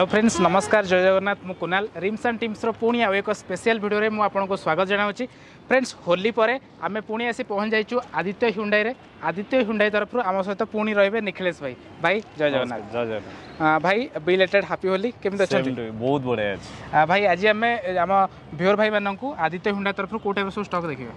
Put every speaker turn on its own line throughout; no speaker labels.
Hello friends, ନମସ୍କାର, ଜୟ ଜଗନ୍ନାଥ। ମୁଁ Kunal, RIMS and ଟିମ୍ସର ପୁଣି ଆଉ ଏକ ସ୍ପେଶିଆଲ ଭିଡ଼ିଓରେ ମୁଁ ଆପଣଙ୍କୁ ସ୍ୱାଗତ ଜଣାଉଛି। ଫ୍ରେଣ୍ଡସ୍, ହୋଲି ପରେ ଆମେ ପୁଣି ଆସି ପହଞ୍ଚି ଯାଇଛୁ ଆଦିତ୍ୟ ହ୍ୟୁଣ୍ଡାଇରେ। ଆଦିତ୍ୟ ହ୍ୟୁଣ୍ଡାଇ ତରଫରୁ ଆମ ସହିତ ପୁଣି ରହିବେ ନିଖିଳେଶ ଭାଇ। ଭାଇ, ଜୟ ଜଗନ୍ନାଥ।
ଜୟ ଜଗନ୍ନାଥ।
ଭାଇ, ବିଲେଟେଡ୍ ହାପି ହୋଲି। କେମିତି ଅଛନ୍ତି?
ବହୁତ ବଢ଼ିଆ ଅଛି।
ଭାଇ, ଆଜି ଆମେ ଆମ ଭିଓର ଭାଇମାନଙ୍କୁ ଆଦିତ୍ୟ ହ୍ୟୁଣ୍ଡାଇ ତରଫରୁ କେଉଁ ଟାଇପ୍ର ସବୁ ଷ୍ଟକ୍ ଦେଖିବା?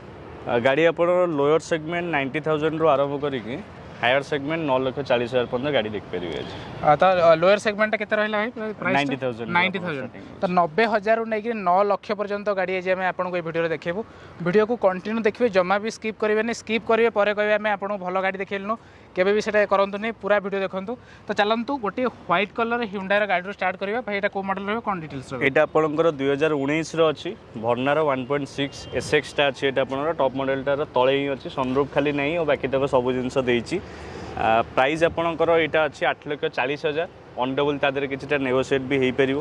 ଗାଡ଼ି ଆପଣଙ୍କର ଲୋୟର ସେଗମେଣ୍ଟ 90,000ରୁ ଆରମ୍ଭ କରିକି ହାୟର ସେଗମେଣ୍ଟ 9,40,000 ପର୍ଯ୍ୟନ୍ତ ଗାଡ଼ି ଦେଖିପାରିବେ ଆଜି।
ତ ଲୋୟର ସେଗମେଣ୍ଟଟା କେତେ ରହିଲା ଭାଇ?
90,000।
90,000। ତ 90,000ରୁ ନେଇକି 9 ଲକ୍ଷ ପର୍ଯ୍ୟନ୍ତ ଗାଡ଼ି ଆଜି ଆମେ ଆପଣଙ୍କୁ ଏଇ ଭିଡ଼ିଓରେ ଦେଖେଇବୁ। ଭିଡ଼ିଓକୁ କଣ୍ଟିନ୍ୟୁ ଦେଖିବେ, ଜମା ବି ସ୍କିପ୍ କରିବେନି। ସ୍କିପ୍ କରିବେ, ପରେ କହିବେ ଆମେ ଆପଣଙ୍କୁ ଭଲ ଗାଡ଼ି ଦେଖେଇଲୁନୁ। କେବେ ବି ସେଇଟା କରନ୍ତୁନି, ପୁରା ଭିଡ଼ିଓ ଦେଖନ୍ତୁ। ତ ଚାଲନ୍ତୁ, ଗୋଟିଏ ହ୍ୱାଇଟ୍ କଲର୍ ହ୍ୟୁଣ୍ଡାଇର ଗାଡ଼ିରୁ ଷ୍ଟାର୍ଟ କରିବା। ଭାଇ, ଏଇଟା କେଉଁ ମଡ଼େଲ୍ ରହିବ, କ'ଣ ଡିଟେଲ୍ସ ରହିବ?
ଏଇଟା ଆପଣଙ୍କର 2019ର ଅଛି, ଭର୍ଣ୍ଣାର 1.6 ଏସ୍ଏକ୍ସଟା ଅଛି। ଏଇଟା ଆପଣଙ୍କର ଟପ୍ ମଡ଼େଲଟାର ତଳେ ହିଁ ଅଛି। ସନରୁଫ୍ ଖାଲି ନାହିଁ, ଆଉ ବାକି ତକ ସବୁ ଜିନିଷ ଦେଇଛି। ପ୍ରାଇସ୍ ଆପଣଙ୍କର ଏଇଟା ଅଛି 8,40,000। ଅନ୍ ଟେବୁଲ୍ ତା ଦେହରେ କିଛିଟା ନେଗୋସିଏଟ୍ ବି ହେଇପାରିବ।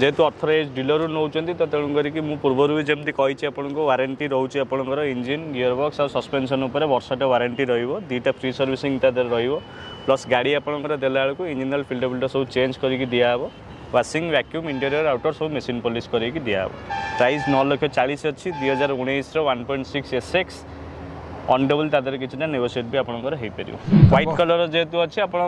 ଯେହେତୁ ଅଥରାଇଜ୍ ଡିଲରରୁ ନେଉଛନ୍ତି, ତ ତେଣୁ କରିକି ମୁଁ ପୂର୍ବରୁ ବି ଯେମିତି କହିଛି ଆପଣଙ୍କୁ, ୱାରେଣ୍ଟି ରହୁଛି ଆପଣଙ୍କର ଇଞ୍ଜିନ୍, ଗିୟର ବକ୍ସ ଆଉ ସସ୍ପେନ୍ସନ୍ ଉପରେ ବର୍ଷଟା ୱାରେଣ୍ଟି ରହିବ। ଦୁଇଟା ଫ୍ରି ସର୍ଭିସିଂ ତା ଦେହରେ ରହିବ। ପ୍ଲସ୍ ଗାଡ଼ି ଆପଣଙ୍କର ଦେଲା ବେଳକୁ ଇଞ୍ଜିନ୍ ଅଏଲ୍, ଫିଲ୍ଟର ଫିଲ୍ଟର ସବୁ ଚେଞ୍ଜ କରିକି ଦିଆହେବ। ୱାସିଂ, ଭ୍ୟାକ୍ୟୁମ୍, ଇଣ୍ଟେରିୟର, ଆଉଟର ସବୁ ମେସିନ୍ ପଲିସ୍ କରିକି ଦିଆହେବ। ପ୍ରାଇସ୍ 9 ଲକ୍ଷ 40 ଅଛି, 2019ର 1.6 ଏସ୍ ଏକ୍ସ। ଅନ୍ ଟେବୁଲ୍ ତା ଦେହରେ କିଛିଟା ନେଗୋସିଏଟ୍ ବି ଆପଣଙ୍କର ହେଇପାରିବ। ହ୍ୱାଇଟ୍ କଲର୍ ଯେହେତୁ ଅଛି, ଆପଣ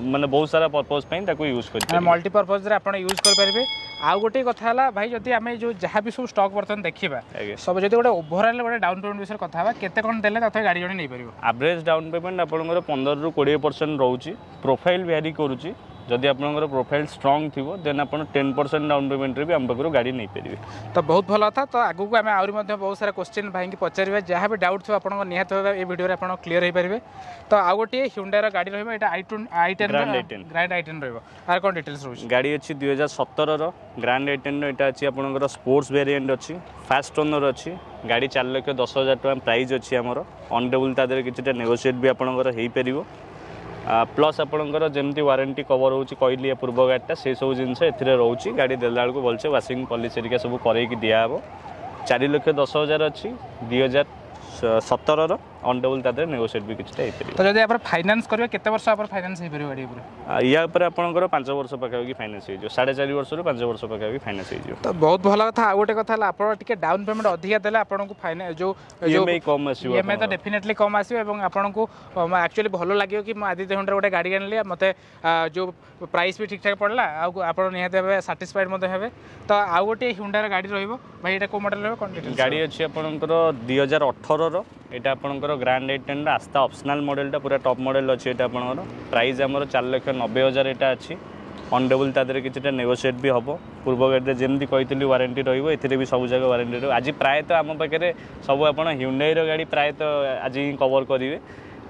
ମାନେ ବହୁତ ସାରା ପର୍ପଜ୍ ପାଇଁ ତାକୁ ୟୁଜ୍ କରିପାରିବେ।
ମଲ୍ଟିପର୍ପଜ୍ରେ ଆପଣ ୟୁଜ୍ କରିପାରିବେ। ଆଉ ଗୋଟିଏ କଥା ହେଲା ଭାଇ, ଯଦି ଆମେ ଯେଉଁ ଯାହା ବି ସବୁ ଷ୍ଟକ୍ ବର୍ତ୍ତମାନ ଦେଖିବା, ସବୁ ଯଦି ଗୋଟେ ଓଭରଅଲ୍ ଗୋଟେ ଡାଉନ୍ ପେମେଣ୍ଟ ବିଷୟରେ କଥା ହେବା, କେତେ କ'ଣ ଦେଲେ ତଥାପି ଗାଡ଼ି ଜଣେ ନେଇପାରିବ?
ଆଭରେଜ୍ ଡାଉନ୍ ପେମେଣ୍ଟ ଆପଣଙ୍କର 15ରୁ 20% ରହୁଛି। ପ୍ରୋଫାଇଲ୍ ଭ୍ୟାରି କରୁଛି। ଯଦି ଆପଣଙ୍କର ପ୍ରୋଫାଇଲ୍ ଷ୍ଟ୍ରଙ୍ଗ ଥିବ, ଦେନ୍ ଆପଣ 10% ଡାଉନ୍ ପେମେଣ୍ଟରେ ବି ଆମ ପାଖରୁ ଗାଡ଼ି ନେଇପାରିବେ।
ତ ବହୁତ ଭଲ କଥା। ତ ଆଗକୁ ଆମେ ଆହୁରି ମଧ୍ୟ ବହୁତ ସାରା କୋଶ୍ଚିନ୍ ଭାଇକି ପଚାରିବା। ଯାହା ବି ଡାଉଟ୍ ଥିବ ଆପଣଙ୍କ, ନିହାତି ଭାବେ ଏ ଭିଡ଼ିଓରେ ଆପଣ କ୍ଲିୟର ହେଇପାରିବେ। ତ ଆଉ ଗୋଟିଏ ହ୍ୟୁଣ୍ଡାଇର ଗାଡ଼ି ରହିବ, ଏଇଟା I I 10?
Grand i10।
Grand I 10 ରହିବ। ଆଉ କ'ଣ ଡିଟେଲ୍ସ ରହୁଛି?
ଗାଡ଼ି ଅଛି 2017ର ଗ୍ରାଣ୍ଡ ଆଇଟେନ୍ର। ଏଇଟା ଅଛି ଆପଣଙ୍କର ସ୍ପୋର୍ଟସ୍ ଭେରିଏଣ୍ଟ ଅଛି, ଫାଷ୍ଟ ଓନର୍ ଅଛି। ଗାଡ଼ି 4,10,000 ଟଙ୍କା ପ୍ରାଇସ୍ ଅଛି ଆମର। ଅନ୍ ଟେବୁଲ୍ ତା ଦେହରେ କିଛିଟା ନେଗୋସିଏଟ୍ ବି ଆପଣଙ୍କର ହେଇପାରିବ। ପ୍ଲସ୍ ଆପଣଙ୍କର ଯେମିତି ୱାରେଣ୍ଟି କଭର୍ ହେଉଛି କହିଲି ପୂର୍ବ ଗାଡ଼ିଟା, ସେସବୁ ଜିନିଷ ଏଥିରେ ରହୁଛି। ଗାଡ଼ି ଦେଲା ବେଳକୁ ଭଲସେ ୱାସିଂ, ପଲିସ୍ ହେରିକା ସବୁ କରେଇକି ଦିଆହେବ। 4,10,000 ଅଛି, 2017ର। ଅନ୍ ଟେବୁଲ୍ ତା ଦେହରେ ନେଗୋସିଏଟ୍ ବି କିଛିଟା ହେଇପାରିବ।
ତ ଯଦି ଆପଣ ଫାଇନାନ୍ସ କରିବେ, କେତେ ବର୍ଷ ଆପଣ ଫାଇନାନ୍ସ ହେଇପାରିବ ଗାଡ଼ି ଉପରେ?
ୟା ଉପରେ ଆପଣଙ୍କର 5 ବର୍ଷ ପାଖାପାଖି ଫାଇନାନ୍ସ ହେଇଯିବ। 4.5 ବର୍ଷରୁ 5 ବର୍ଷ ପାଖାପାଖି ଫାଇନାନ୍ସ ହେଇଯିବ।
ତ ବହୁତ ଭଲ କଥା। ଆଉ ଗୋଟେ କଥା ହେଲା, ଆପଣ ଟିକେ ଡାଉନ୍ ପେମେଣ୍ଟ ଅଧିକା ଦେଲେ ଆପଣଙ୍କୁ ଫାଇନାନ୍ସ ଯେଉଁ
ଇଏମ୍ଆଇ କମ୍ ଆସିବ।
ଇଏମ୍ଆଇ ତ ଡେଫିନେଟଲି କମ୍ ଆସିବ ଏବଂ ଆପଣଙ୍କୁ ଆକ୍ଚୁଆଲି ଭଲ ଲାଗିବ କି ମୁଁ ଆଦିତ୍ୟ ହୁଣ୍ଡାର ଗୋଟେ ଗାଡ଼ି ଆଣିଲି, ମୋତେ ଯେଉଁ ପ୍ରାଇସ୍ ବି ଠିକ୍ଠାକ୍ ପଡ଼ିଲା, ଆଉ ଆପଣ ନିହାତି ଭାବେ ସାଟିସ୍ଫାଇଡ୍ ମଧ୍ୟ ହେବେ। ତ ଆଉ ଗୋଟିଏ ହୁଣ୍ଡାର ଗାଡ଼ି ରହିବ। ଭାଇ, ଏଇଟା କେଉଁ ମଡ଼େଲ୍ ରହିବ, କ'ଣ ଡିଟେଲ୍ସ?
ଗାଡ଼ି ଅଛି ଆପଣଙ୍କର 2018ର। ଏଇଟା ଆପଣଙ୍କର ଗ୍ରାଣ୍ଡ ଆଇଟେନ୍ର ଆସ୍ତା ଅପସନାଲ୍ ମଡ଼େଲଟା, ପୁରା ଟପ୍ ମଡ଼େଲ୍ ଅଛି ଏଇଟା। ଆପଣଙ୍କର ପ୍ରାଇସ୍ ଆମର 4,90,000 ଏଇଟା ଅଛି। ଅନ୍ ଟେବୁଲ୍ ତା ଦେହରେ କିଛିଟା ନେଗୋସିଏଟ୍ ବି ହେବ। ପୂର୍ବ ଗାଡ଼ିରେ ଯେମିତି କହିଥିଲି ୱାରେଣ୍ଟି ରହିବ, ଏଥିରେ ବି ସବୁ ଜାଗା ୱାରେଣ୍ଟି ରହିବ। ଆଜି ପ୍ରାୟତଃ ଆମ ପାଖରେ ସବୁ ଆପଣ ହ୍ୟୁଣ୍ଡାଇର ଗାଡ଼ି ପ୍ରାୟତଃ ଆଜି ହିଁ କଭର୍ କରିବେ।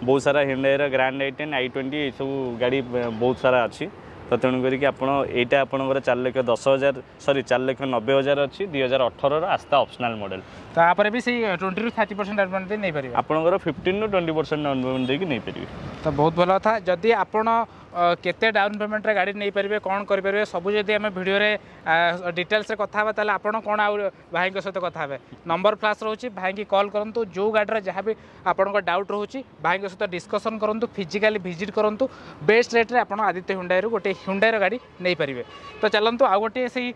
ବହୁତ ସାରା ହ୍ୟୁଣ୍ଡାଇର ଗ୍ରାଣ୍ଡ ଆଇଟେନ୍, i20, ଏସବୁ ଗାଡ଼ି ବହୁତ ସାରା ଅଛି। ତ ତେଣୁ କରିକି ଆପଣ ଏଇଟା ଆପଣଙ୍କର 4,10,000, ସରି, 4,90,000 ଅଛି, 2018ର ଆସ୍ତା ଅପସନାଲ୍ ମଡ଼େଲ୍।
ତାପରେ ବି ସେଇ 20ରୁ 30% ଡାଉନ୍ ପେମେଣ୍ଟ ଦେଇ ନେଇପାରିବେ?
ଆପଣଙ୍କର 15ରୁ 20% ଡାଉନ୍ ପେମେଣ୍ଟ ଦେଇକି ନେଇପାରିବେ।
ତ ବହୁତ ଭଲ କଥା। ଯଦି ଆପଣ କେତେ ଡାଉନ୍ ପେମେଣ୍ଟରେ ଗାଡ଼ି ନେଇପାରିବେ, କ'ଣ କରିପାରିବେ, ସବୁ ଯଦି ଆମେ ଭିଡ଼ିଓରେ ଡିଟେଲ୍ସରେ କଥା ହେବା, ତାହେଲେ ଆପଣ କ'ଣ ଆଉ ଭାଇଙ୍କ ସହିତ କଥା ହେବେ? ନମ୍ବର ଫ୍ଲାସ୍ ରହୁଛି, ଭାଇକି କଲ୍ କରନ୍ତୁ। ଯେଉଁ ଗାଡ଼ିର ଯାହା ବି ଆପଣଙ୍କ ଡାଉଟ୍ ରହୁଛି, ଭାଇଙ୍କ ସହିତ ଡିସ୍କସନ୍ କରନ୍ତୁ, ଫିଜିକାଲି ଭିଜିଟ୍ କରନ୍ତୁ। ବେଷ୍ଟ ରେଟ୍ରେ ଆପଣ ଆଦିତ୍ୟ ହୁଣ୍ଡାଇରୁ ଗୋଟେ ହୁଣ୍ଡାଇର ଗାଡ଼ି ନେଇପାରିବେ। ତ ଚାଲନ୍ତୁ, ଆଉ ଗୋଟିଏ ସେଇ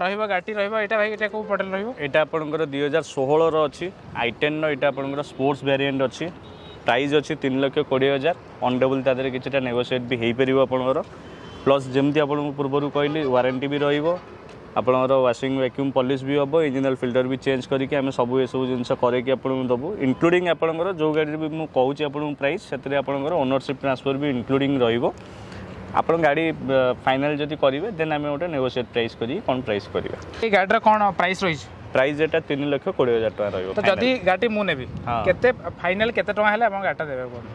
ରହିବ ଗାଡ଼ି ରହିବ ଏଇଟା। ଭାଇ, ଏଇଟା କେଉଁ ମଡ଼େଲ୍ ରହିବ?
ଏଇଟା ଆପଣଙ୍କର 2016ର ଅଛି, ଆଇଟେନ୍ର। ଏଇଟା ଆପଣଙ୍କର ସ୍ପୋର୍ଟସ୍ ଭ୍ୟାରିଏଣ୍ଟ ଅଛି। ପ୍ରାଇସ୍ ଅଛି 3,20,000। ଅନ୍ ଟେବୁଲ୍ ତା ଦେହରେ କିଛିଟା ନେଗୋସିଏଟ୍ ବି ହେଇପାରିବ ଆପଣଙ୍କର। ପ୍ଲସ୍ ଯେମିତି ଆପଣଙ୍କୁ ପୂର୍ବରୁ କହିଲି, ୱାରେଣ୍ଟି ବି ରହିବ ଆପଣଙ୍କର, ୱାସିଂ, ଭ୍ୟାକ୍ୟୁମ୍, ପଲିସ୍ ବି ହେବ, ଇଞ୍ଜିନ୍ ଅଏଲ୍, ଫିଲ୍ଟର ବି ଚେଞ୍ଜ କରିକି ଆମେ ସବୁ ଏସବୁ ଜିନିଷ କରେଇକି ଆପଣଙ୍କୁ ଦେବୁ। ଇନକ୍ଲୁଡ଼ିଂ ଆପଣଙ୍କର ଯେଉଁ ଗାଡ଼ିରେ ବି ମୁଁ କହୁଛି ଆପଣଙ୍କୁ ପ୍ରାଇସ୍, ସେଥିରେ ଆପଣଙ୍କର ଓନରସିପ୍ ଟ୍ରାନ୍ସଫର୍ ବି ଇନକ୍ଲୁଡ଼ିଂ ରହିବ। ଆପଣ ଗାଡ଼ି ଫାଇନାଲ୍ ଯଦି କରିବେ, ଦେନ୍ ଆମେ ଗୋଟେ ନେଗୋସିଏଟ୍ ପ୍ରାଇସ୍ କରିକି କ'ଣ ପ୍ରାଇସ୍ କରିବା।
ଏଇ ଗାଡ଼ିର କ'ଣ ପ୍ରାଇସ୍ ରହିଛି?
ପ୍ରାଇସ୍ ଏଟା 3,20,000 ଟଙ୍କା ରହିବ।
ତ ଯଦି ଗାଡ଼ି ମୁଁ ନେବି, କେତେ ଫାଇନାଲ୍ କେତେ ଟଙ୍କା ହେଲେ ଆପଣ ଗାଡ଼ିଟା ଦେବେ କୁହନ୍ତୁ?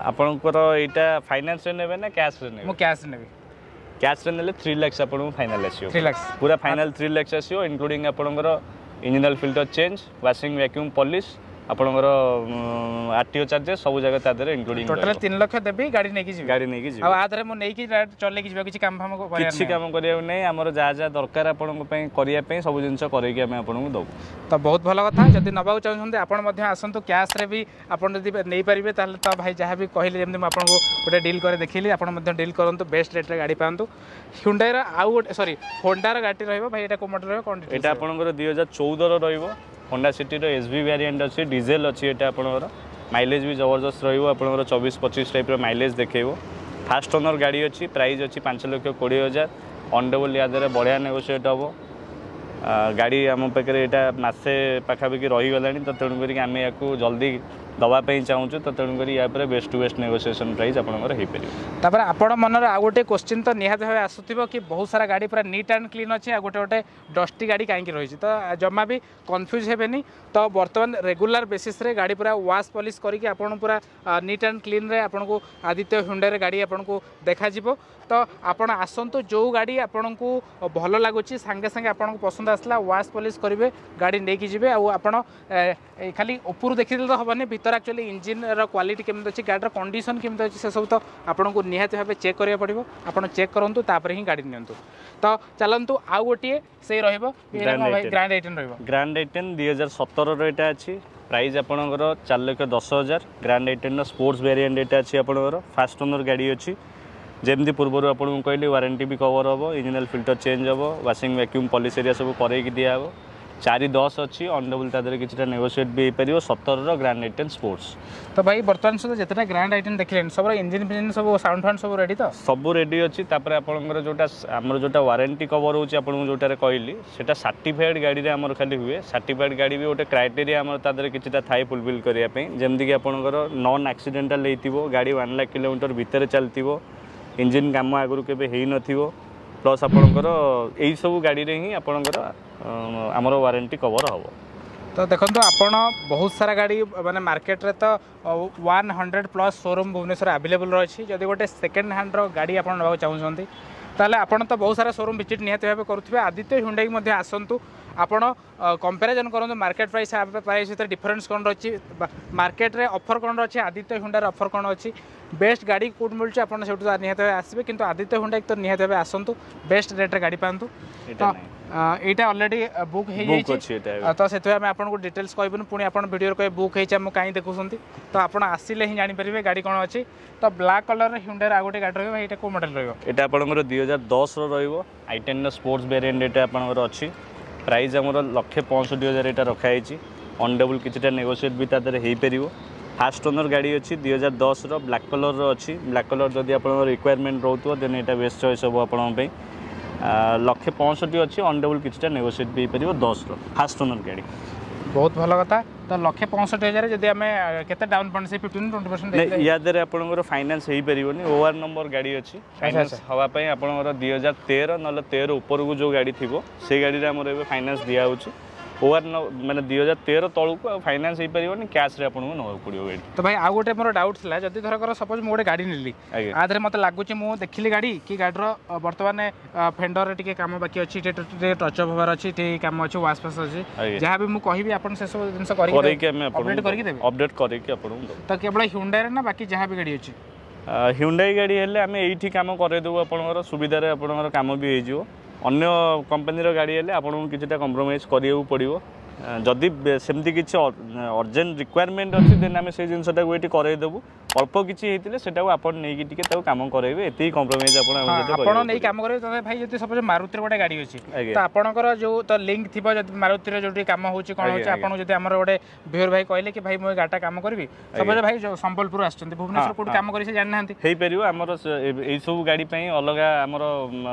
ଆପଣଙ୍କର ଏଇଟା ଫାଇନାନ୍ସରେ ନେବେ ନା କ୍ୟାସ୍ରେ ନେବେ?
ମୁଁ କ୍ୟାସ୍ ନେବି।
କ୍ୟାସ୍ରେ ନେଲେ 3 ଲାକ୍ସ ଆପଣଙ୍କୁ ଫାଇନାଲ୍ ଆସିବ।
3 ଲାକ୍ସ?
ପୁରା ଫାଇନାଲ୍ 3 ଲାକ୍ସ ଆସିବ, ଇନକ୍ଲୁଡ଼ିଂ ଆପଣଙ୍କର engine oil filter change, washing, vacuum, polish, ଆପଣଙ୍କର ଆରଟିଓ ଚାର୍ଜେସ୍ ସବୁ ଜାଗା ତା ଦେହରେ ଇନକ୍ଲୁଡ଼ିଂ।
ଟୋଟାଲ 3 ଲକ୍ଷ ଦେବି, ଗାଡ଼ି ନେଇକି ଯିବି।
ଗାଡ଼ି ନେଇକି ଯିବି।
ଆଉ ଆ ଦେହରେ ମୁଁ ନେଇକି ଚଲେଇକି ଯିବା, କିଛି କାମ ଫାମ କରିବାର
କିଛି
ନାହିଁ?
କାମ କରିବାକୁ ନାହିଁ। ଆମର ଯାହା ଯାହା ଦରକାର ଆପଣଙ୍କ ପାଇଁ କରିବା ପାଇଁ, ସବୁ ଜିନିଷ କରେଇକି ଆମେ ଆପଣଙ୍କୁ ଦେବୁ।
ତ ବହୁତ ଭଲ କଥା। ଯଦି ନେବାକୁ ଚାହୁଁଛନ୍ତି, ଆପଣ ମଧ୍ୟ ଆସନ୍ତୁ। କ୍ୟାସ୍ରେ ବି ଆପଣ ଯଦି ନେଇପାରିବେ, ତାହେଲେ ତ ଭାଇ ଯାହା ବି କହିଲେ, ଯେମିତି ମୁଁ ଆପଣଙ୍କୁ ଗୋଟେ ଡିଲ୍ କରି ଦେଖିଲି, ଆପଣ ମଧ୍ୟ ଡିଲ୍ କରନ୍ତୁ, ବେଷ୍ଟ ରେଟ୍ରେ ଗାଡ଼ି ପାଆନ୍ତୁ। ହୁଣ୍ଡାଇର ଆଉ ଗୋଟେ, ସରି, ହୋଣ୍ଡାର ଗାଡ଼ି ରହିବ। ଭାଇ, ଏଇଟା କେଉଁ ମଡ଼େଲ ରହିବ, କ'ଣ details
ଏଇଟା
ରହିବ?
ଆପଣଙ୍କର 2014ର ରହିବ। ହୋଣ୍ଡା ସିଟିର ଏସ୍ ଭି ଭ୍ୟାରିଏଣ୍ଟ ଅଛି, ଡିଜେଲ ଅଛି ଏଇଟା। ଆପଣଙ୍କର ମାଇଲେଜ୍ ବି ଜବରଦସ୍ତ ରହିବ। ଆପଣଙ୍କର 24-25 ଟାଇପ୍ର ମାଇଲେଜ୍ ଦେଖେଇବ। ଫାଷ୍ଟ ଓନର୍ ଗାଡ଼ି ଅଛି। ପ୍ରାଇସ୍ ଅଛି 5,20,000। ଅନ୍ ଟେବୁଲ୍ ୟା ଦେହରେ ବଢ଼ିଆ ନେଗୋସିଏଟ୍ ହେବ। ଗାଡ଼ି ଆମ ପାଖରେ ଏଇଟା ମାସେ ପାଖାପାଖି ରହିଗଲାଣି, ତ ତେଣୁ କରିକି ଆମେ ୟାକୁ ଜଲ୍ଦି ଦେବା ପାଇଁ ଚାହୁଁଛୁ। ତ ତେଣୁକରି ୟା ଉପରେ best to best negotiation price ଆପଣଙ୍କର ହେଇପାରିବ।
ତାପରେ ଆପଣ ମନରେ ଆଉ ଗୋଟେ କୋଶ୍ଚିନ୍ ତ ନିହାତି ଭାବେ ଆସୁଥିବ କି ବହୁତ ସାରା ଗାଡ଼ି ପୁରା ନିଟ୍ ଆଣ୍ଡ କ୍ଲିନ୍ ଅଛି, ଆଉ ଗୋଟେ ଗୋଟେ ଡଷ୍ଟି ଗାଡ଼ି କାହିଁକି ରହିଛି? ତ ଜମା ବି କନଫ୍ୟୁଜ୍ ହେବେନି। ତ ବର୍ତ୍ତମାନ ରେଗୁଲାର ବେସିସ୍ରେ ଗାଡ଼ି ପୁରା ୱାଶ୍ ପଲିସ୍ କରିକି ଆପଣ ପୁରା ନିଟ୍ ଆଣ୍ଡ କ୍ଲିନ୍ରେ ଆପଣଙ୍କୁ ଆଦିତ୍ୟ ହୁଣ୍ଡାରେ ଗାଡ଼ି ଆପଣଙ୍କୁ ଦେଖାଯିବ। ତ ଆପଣ ଆସନ୍ତୁ, ଯେଉଁ ଗାଡ଼ି ଆପଣଙ୍କୁ ଭଲ ଲାଗୁଛି, ସାଙ୍ଗେ ସାଙ୍ଗେ ଆପଣଙ୍କୁ ପସନ୍ଦ ଆସିଲା, ୱାଶ୍ ପଲିସ୍ କରିବେ, ଗାଡ଼ି ନେଇକି ଯିବେ। ଆଉ ଆପଣ ଖାଲି ଉପରୁ ଦେଖିଦେଲେ ତ ହେବନି, ଭିତରେ ଆକ୍ଚୁଆଲି ଇଞ୍ଜିନ୍ର କ୍ୱାଲିଟି କେମିତି ଅଛି, ଗାଡ଼ିର କଣ୍ଡିସନ୍ କେମିତି ଅଛି, ସେସବୁ ତ ଆପଣଙ୍କୁ ନିହାତି ଭାବେ ଚେକ୍ କରିବାକୁ ପଡ଼ିବ। ଆପଣ ଚେକ୍ କରନ୍ତୁ, ତାପରେ ହିଁ ଗାଡ଼ି ନିଅନ୍ତୁ। ତ ଚାଲନ୍ତୁ, ଆଉ ଗୋଟିଏ ସେଇ ରହିବ।
Grand i10।
Grand i10 ରହିବ।
ଗ୍ରାଣ୍ଡ i10 2017ର ଏଇଟା ଅଛି। ପ୍ରାଇସ୍ ଆପଣଙ୍କର 4,10,000। ଗ୍ରାଣ୍ଡ i10ର ସ୍ପୋର୍ଟସ୍ ଭ୍ୟାରିଏଣ୍ଟ ଏଇଟା ଅଛି ଆପଣଙ୍କର। ଫାଷ୍ଟ ଓନର୍ ଗାଡ଼ି ଅଛି। ଯେମିତି ପୂର୍ବରୁ ଆପଣଙ୍କୁ କହିଲି, ୱାରେଣ୍ଟି ବି କଭର୍ ହେବ, ଇଞ୍ଜିନ୍ ଅଏଲ୍ ଫିଲ୍ଟର ଚେଞ୍ଜ ହେବ, ୱାସିଂ, ଭ୍ୟାକ୍ୟୁମ୍, ପଲିସ୍ ଏରିଆ ସବୁ କରେଇକି ଦିଆହେବ। 4.10 ଅଛି। ଅନ୍ ଟେବୁଲ୍ ତା ଦେହରେ କିଛିଟା ନେଗୋସିଏଟ୍ ବି ହେଇପାରିବ। 17ର ଗ୍ରାଣ୍ଡ i10 sports.
ତ ଭାଇ, ବର୍ତ୍ତମାନ ସୁଦ୍ଧା ଯେତେଟା ଗ୍ରାଣ୍ଡ i10 ଦେଖିଲେଣି, ସବୁର ଇଞ୍ଜିନ୍ ଫିଞ୍ଜିନ୍ ସବୁ, ସାଉଣ୍ଡ ଫାଉଣ୍ଡ ସବୁ ରେଡ଼ି ତ?
ସବୁ ରେଡ଼ି ଅଛି। ତାପରେ ଆପଣଙ୍କର ଯେଉଁଟା ଆମର ଯେଉଁଟା ୱାରେଣ୍ଟି କଭର୍ ହେଉଛି, ଆପଣଙ୍କୁ ଯେଉଁଟାରେ କହିଲି, ସେଇଟା ସାର୍ଟିଫାଏଡ଼୍ ଗାଡ଼ିରେ ଆମର ଖାଲି ହୁଏ। ସାର୍ଟିଫାଏଡ଼୍ ଗାଡ଼ି ବି ଗୋଟେ କ୍ରାଇଟେରିଆ ଆମର ତା ଦେହରେ କିଛିଟା ଥାଏ ଫୁଲଫିଲ୍ କରିବା ପାଇଁ, ଯେମିତିକି ଆପଣଙ୍କର ନନ୍ ଆକ୍ସିଡେଣ୍ଟାଲ୍ ହେଇଥିବ ଗାଡ଼ି, 1 ଲାଖ କିଲୋମିଟର ଭିତରେ ଚାଲିଥିବ, ଇଞ୍ଜିନ୍ କାମ ଆଗରୁ କେବେ ହେଇନଥିବ, ପ୍ଲସ୍ ଆପଣଙ୍କର ଏଇସବୁ ଗାଡ଼ିରେ ହିଁ ଆପଣଙ୍କର ଆମର ୱାରେଣ୍ଟି କଭର୍ ହେବ।
ତ ଦେଖନ୍ତୁ, ଆପଣ ବହୁତ ସାରା ଗାଡ଼ି, ମାନେ ମାର୍କେଟରେ ତ 100+ ସୋରୁମ୍ ଭୁବନେଶ୍ୱର ଆଭେଲେବୁଲ୍ ରହିଛି। ଯଦି ଗୋଟେ ସେକେଣ୍ଡ ହ୍ୟାଣ୍ଡର ଗାଡ଼ି ଆପଣ ନେବାକୁ ଚାହୁଁଛନ୍ତି, ତାହେଲେ ଆପଣ ତ ବହୁତ ସାରା ସୋରୁମ୍ ଭିଜିଟ୍ ନିହାତି ଭାବେ କରୁଥିବେ। ଆଦିତ୍ୟ ହୁଣ୍ଡାଇକି ମଧ୍ୟ ଆସନ୍ତୁ, ଆପଣ କମ୍ପାରିଜନ୍ କରନ୍ତୁ, ମାର୍କେଟ ପ୍ରାଇସ୍ ପ୍ରାଇସ୍ ଭିତରେ ଡିଫରେନ୍ସ କ'ଣ ରହିଛି, ମାର୍କେଟରେ ଅଫର୍ କ'ଣ ଅଛି, ଆଦିତ୍ୟ ହୁଣ୍ଡାର ଅଫର୍ କ'ଣ ଅଛି, ବେଷ୍ଟ ଗାଡ଼ି କେଉଁଠି ମିଳୁଛି, ଆପଣ ସେଇଠୁ ତ ନିହାତି ଭାବେ ଆସିବେ। କିନ୍ତୁ ଆଦିତ୍ୟ ହୁଣ୍ଡାଇକି ତ ନିହାତି ଭାବେ ଆସନ୍ତୁ, ବେଷ୍ଟ ରେଟ୍ରେ ଗାଡ଼ି ପାଆନ୍ତୁ।
ଏଇଟା
ତ
ନାହିଁ।
ଏଇଟା ଅଲରେଡ଼ି ବୁକ୍ ହେଇଯାଇଛି।
ଅଛି ଏଇଟା ଏବେ।
ତ ସେଥିପାଇଁ ଆମେ ଆପଣଙ୍କୁ ଡିଟେଲ୍ସ କହିବୁନି। ପୁଣି ଆପଣ ଭିଡ଼ିଓରେ କହିବେ ବୁକ୍ ହେଇଛି, ଆମକୁ କାହିଁ ଦେଖୁଛନ୍ତି? ତ ଆପଣ ଆସିଲେ ହିଁ ଜାଣିପାରିବେ ଗାଡ଼ି କ'ଣ ଅଛି। ତ ବ୍ଲାକ୍ କଲର୍ର ହ୍ୟୁଣ୍ଡାର ଆଉ ଗୋଟେ ଗାଡ଼ି ରହିବ। ଭାଇ, ଏଇଟା କେଉଁ ମଡ଼େଲ୍ ରହିବ?
ଏଇଟା ଆପଣଙ୍କର 2010ର ରହିବ। i10ର ସ୍ପୋର୍ଟସ୍ ଭେରିଏଣ୍ଟ ଏଇଟା ଆପଣଙ୍କର ଅଛି। ପ୍ରାଇସ୍ ଆମର 1,65,000 ଏଇଟା ରଖାହେଇଛି। ଅନ୍ ଟେବୁଲ୍ କିଛିଟା ନେଗୋସିଏଟ୍ ବି ତା ଦେହରେ ହେଇପାରିବ। ଫାଷ୍ଟ ଓନର୍ ଗାଡ଼ି ଅଛି। 2010ର ବ୍ଲାକ୍ କଲର୍ର ଅଛି। ବ୍ଲାକ୍ କଲର୍ ଯଦି ଆପଣଙ୍କର ରିକ୍ୱାରମେଣ୍ଟ ରହୁଥିବ, ଦେନ୍ ଏଇଟା ବେଷ୍ଟ ଚଏସ୍ ହେବ ଆପଣଙ୍କ ପାଇଁ। 1,65,000 ଅଛି। ଅନ୍ ଟେବୁଲ୍ କିଛିଟା ନେଗୋସିଏଟ୍ ବି ହେଇପାରିବ। 10ର ଫାଷ୍ଟ ଓନର୍ ଗାଡ଼ି।
ବହୁତ ଭଲ କଥା। ତ 1,65,000 ଯଦି ଆମେ କେତେ ଡାଉନ୍ ପେମେଣ୍ଟ, ସେ 15-20%?
ନାଇଁ, ୟା ଦେହରେ ଆପଣଙ୍କର ଫାଇନାନ୍ସ ହେଇପାରିବନି। ଓଆର୍ ନମ୍ବର ଗାଡ଼ି ଅଛି। ଫାଇନାନ୍ସ ହେବା ପାଇଁ ଆପଣଙ୍କର 2013 ନହେଲେ 13 ଉପରକୁ ଯେଉଁ ଗାଡ଼ି ଥିବ, ସେଇ ଗାଡ଼ିରେ ଆମର ଏବେ ଫାଇନାନ୍ସ ଦିଆହେଉଛି। ଓଆର୍ ମାନେ 2013 ତଳକୁ ଆଉ ଫାଇନାନ୍ସ ହେଇପାରିବନି। କ୍ୟାସ୍ରେ ଆପଣଙ୍କୁ ନେବାକୁ ପଡ଼ିବ ଗାଡ଼ି।
ତ ଭାଇ, ଆଉ ଗୋଟେ ମୋର ଡାଉଟ୍ ଥିଲା। ଯଦି ଧରକର ସପୋଜ ମୁଁ ଗୋଟେ ଗାଡ଼ି ନେଲି, ଆ ଦେହରେ ମୋତେ ଲାଗୁଛି, ମୁଁ ଦେଖିଲି ଗାଡ଼ି କି ଗାଡ଼ିର ବର୍ତ୍ତମାନ ଫେଣ୍ଡରରେ ଟିକେ କାମ ବାକି ଅଛି, ଟିକେ ଟିକେ ଟଚ୍ ଅପ୍ ହେବାର ଅଛି, ଟିକେ କାମ ଅଛି, ୱାଶ୍ ଫାସ୍ ଅଛି, ଯାହା ବି ମୁଁ କହିବି, ଆପଣ ସେସବୁ ଜିନିଷ
କରିକି
କରିକି
ଆମେ
ଅପଡେଟ୍
ଆପଣଙ୍କୁ
କରିକି ଦେବେ?
ଅପଡେଟ୍ କରିକି ଆପଣଙ୍କୁ ଦେବୁ।
ତ କେବଳ ହ୍ୟୁଣ୍ଡାଇରେ ନା ବାକି ଯାହା ବି ଗାଡ଼ି ଅଛି?
ହ୍ୟୁଣ୍ଡାଇ ଗାଡ଼ି ହେଲେ ଆମେ ଏଇଠି କାମ କରେଇଦେବୁ। ଆପଣଙ୍କର ସୁବିଧାରେ ଆପଣଙ୍କର କାମ ବି ହେଇଯିବ। ଅନ୍ୟ କମ୍ପାନୀର ଗାଡ଼ି ହେଲେ ଆପଣଙ୍କୁ କିଛିଟା କମ୍ପ୍ରମାଇଜ୍ କରିବାକୁ ପଡ଼ିବ। ଯଦି ସେମିତି କିଛି ଅର୍ଜେଣ୍ଟ ରିକ୍ୱାରମେଣ୍ଟ ଅଛି, ଦେନ୍ ଆମେ ସେଇ ଜିନିଷଟାକୁ ଏଇଠି କରେଇଦେବୁ। ଅଳ୍ପ କିଛି ହେଇଥିଲେ ସେଟାକୁ ଆପଣ ନେଇକି ଟିକେ ତାକୁ କାମ କରେଇବେ। ଏତିକି କମ୍ପ୍ରମାଇଜ୍ ଆପଣ ଆମ ସହିତ
ଆପଣ
କରିବାକୁ
ନେଇ
ପଡ଼ିବ।
କାମ କରିବେ। ତ ଭାଇ, ଯଦି ସପୋଜ ମାରୁତିର ଗୋଟେ ଗାଡ଼ି ଅଛି, ତ ଆପଣଙ୍କର ଯୋଉ ତ ଲିଙ୍କ ଥିବ, ଯଦି ମାରୁତିର ଯୋଉଠି କାମ ହଉଛି କ'ଣ ହଉଛି, ଆପଣଙ୍କୁ ଯଦି ଆମର ଗୋଟେ ଭିଓର ଭାଇ କହିଲେ କି ଭାଇ, ମୁଁ ଏ ଗାଡ଼ିଟା କାମ କରିବି, ସପୋଜ ଭାଇ ଯୋଉ ସମ୍ବଲପୁର ଆସିଛନ୍ତି, ଭୁବନେଶ୍ୱର କୋଉଠି କାମ କରି ସେ ଜାଣିନାହାନ୍ତି।
ହେଇପାରିବ। ଆମର ଏଇସବୁ ଗାଡ଼ି ପାଇଁ ଅଲଗା ଆମର